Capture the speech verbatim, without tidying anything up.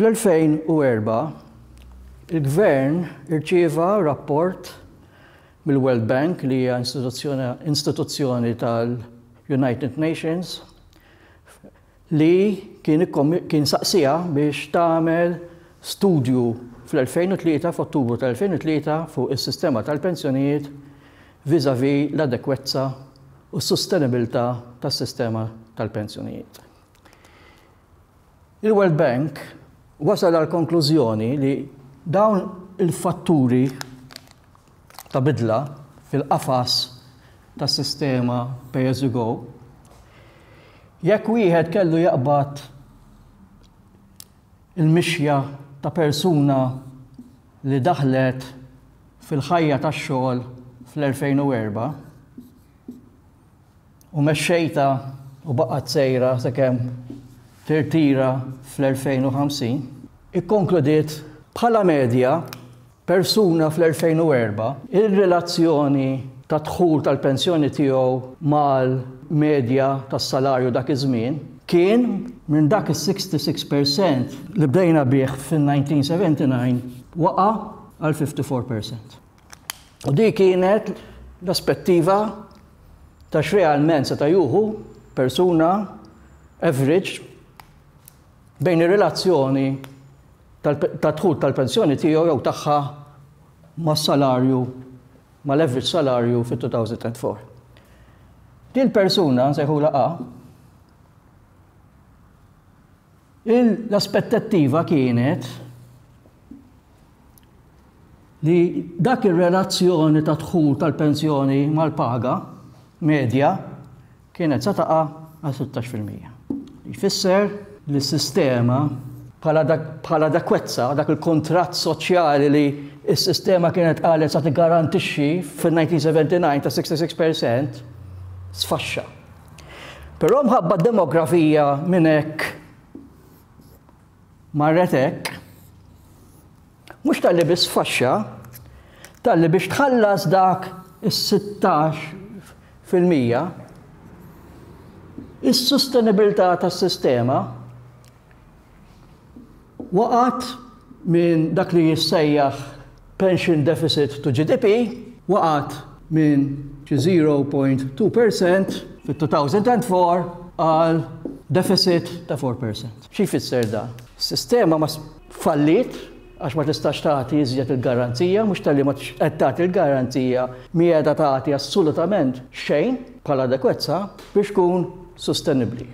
Fl-elfejn u erbgħa il-Gvern irċieva rapport mill-World Bank, li hija istituzzjoni tal-United Nations, li kien, kien saqsija biex tagħmel studju fl-elfejn u tlieta, f'Ottubru tal-elfejn u tlieta, fuq is-sistema tal-pensjonijiet vis-à-vis l-adekwezza u s-sostenibilità tas-sistema tal-pensjonijiet. Il-World Bank wasal għal konklużjoni li dawn il-fatturi ta' bidla fil-qafas tas-sistema pay as you go, jekk wieħed kellu jaqbad il-mixja ta' persuna li daħlet fil-ħajja tax-xogħol fl-elfejn u erbgħa u mexxejtha u baqgħet sejra sakemm tirtira fl-elfejn u ħamsin, ikkonkludiet bħala medja persuna fl-elfejn u erbgħa, il-relazzjoni ta' dħul tal-pensjoni tiegħu mal-medja tas-salarju dak iż-żmien kien minn dak is-sitta u sittin fil-mija li bdejna bih fil-elf disa' mija u sebgħa u disgħin waqa' għal ħamsa u erbgħin fil-mija. U di kienet l-aspettiva ta' x'realment seta' jieħu persuna average bejn ir-relazzjoni ta' dħul tal-pensjoni tiegħu jew tagħha mas-salarju, mal-average salarju fit-elfejn u erbgħa. Din persuna nsejħula A, l-aspettattiva kienet li dak ir-relazzjoni ta' dħul tal-pensjoni mal-paga medja kienet sa taqa' għal sittax fil-mija. Jfisser li s-sistema bħala adekwezza, dak il-kontratt soċjali li s-sistema kienet qalet sa tigarantixxi fil-elf disa' mija u sebgħa u disgħin ta' sitta u sittin fil-mija, sfaxxa. Però mħabba demografija minn hekk marret hekk, mhux talli biss sfaxxa, talli biex tħallas dak is-sittax fil-mija, is-sostenibilità tas-sistema waqgħet minn dak li jissejjaħ pension deficit to G D P, waqgħet minn xi zero punt tnejn fil-mija fit-elfejn u erbgħa għal deficit ta' erbgħa fil-mija. Xi jfisser da? Sistema ma fallit għax ma tistax tagħti iżjed il-garanzija, mhux talli ma qed tagħti il-garanzija, mi qiegħda tagħti assolutament xejn bħala adekwezza biex tkun sostenibbli.